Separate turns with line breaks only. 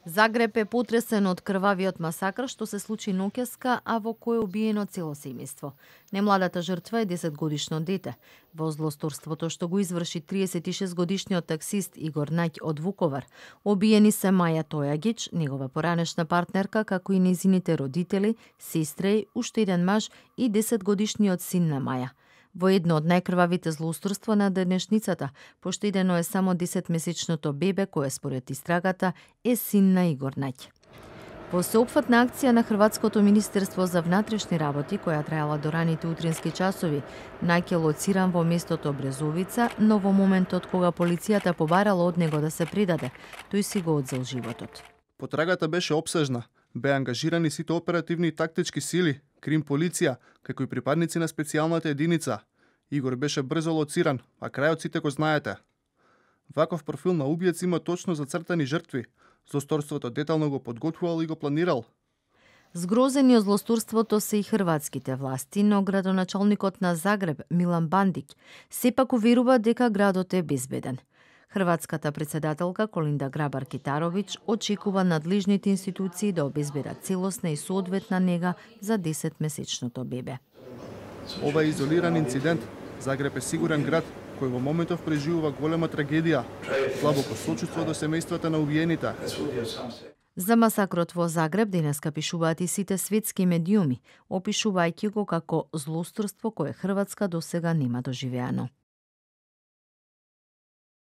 Загреб е потресен од крвавиот масакр што се случи ноќеска, а во кој е убиено цело семејство. Немладата жртва е 10-годишно дете. Во злосторството што го изврши 36-годишниот таксист Игор Наќ од Вуковар, обиени се Маја Тојагич, негова поранешна партнерка, како и нејзините родители, сестра и уште еден маж и 10-годишниот син на Маја. Во едно од најкрвавите злоусторства на денешницата, поштедено е само 10-месечното бебе кое според истрагата е син на Игор Наќ. Во сеопфатна акција на Хрватското министерство за внатрешни работи, која траела до раните утрински часови, Наќ е лоциран во местото Брезовица, но во моментот кога полицијата побарала од него да се предаде, тој си го одзел животот.
Потрагата беше опсежна. Беа ангажирани сите оперативни и тактички сили, крим полиција, како и припадници на специјалната единица. Игор беше брзо лоциран, а крајот сите го знаете. Ваков профил на убиец има точно зацртани жртви. Злосторството детално го подготвувал и го планирал.
Згрозени од злосторството се и хрватските власти, но градоначалникот на Загреб, Милан Бандиќ, сепак уверува дека градот е безбеден. Хрватската председателка Колинда Грабар-Китаровиќ очекува надлежните институции да обезбедат целосна и соодветна нега за 10-месечното бебе.
Ова е изолиран инцидент. Загреб е сигурен град кој во моментов преживува голема трагедија. Длабоко сочувство до семејствата на убиените.
За масакрот во Загреб денеска пишуваат и сите светски медиуми, опишувајќи го како злосторство кое Хрватска досега нема доживеано.